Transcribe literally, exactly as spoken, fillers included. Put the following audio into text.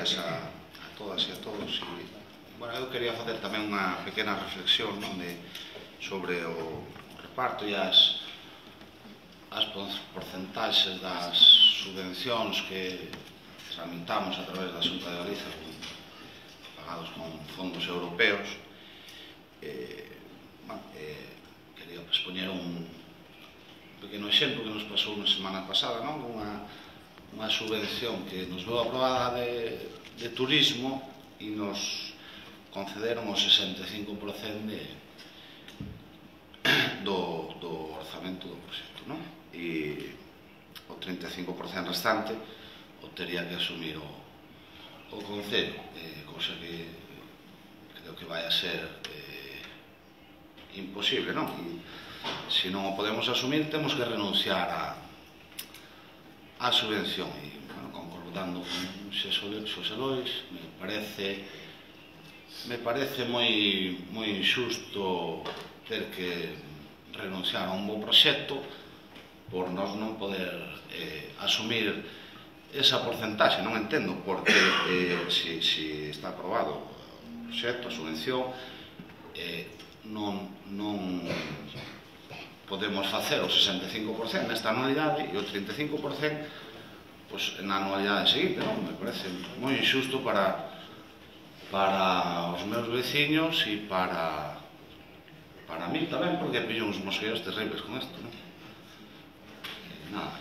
días a, a todas e a todos. E, bueno, eu quería facer tamén unha pequena reflexión, non, de, sobre o reparto e as, as porcentaxes das subvencións que tramitamos a través da Xunta de Galicia, pagados con fondos europeos. Eh, bueno, eh, quería expoñer un pequeno exemplo que nos pasou na semana pasada, non? Unha, unha subvención que nos veu aprobada de, de turismo e nos concederon o sesenta e cinco por cento de, do, do orzamento do proxecto, non? E o trinta e cinco por cento restante o tería que asumir o, o Concello, eh, cousa que creo que vai a ser eh, imposible, non? E, se non o podemos asumir, temos que renunciar a, a subvención. E, bueno, concordando con Xosé Lois, me parece me parece moi moi injusto ter que renunciar a un bo proxecto por nós non poder eh, asumir esa porcentaxe. Non entendo porque eh, se, se está aprobado o proxecto, a subvención, eh, non, non podemos facer o sesenta e cinco por cento nesta anualidade e o trinta e cinco por cento pois, na anualidade seguinte, non? Me parece moi injusto para para os meus veciños e para para mí tamén, porque pillo uns mosqueos terribles con isto, non? Nada.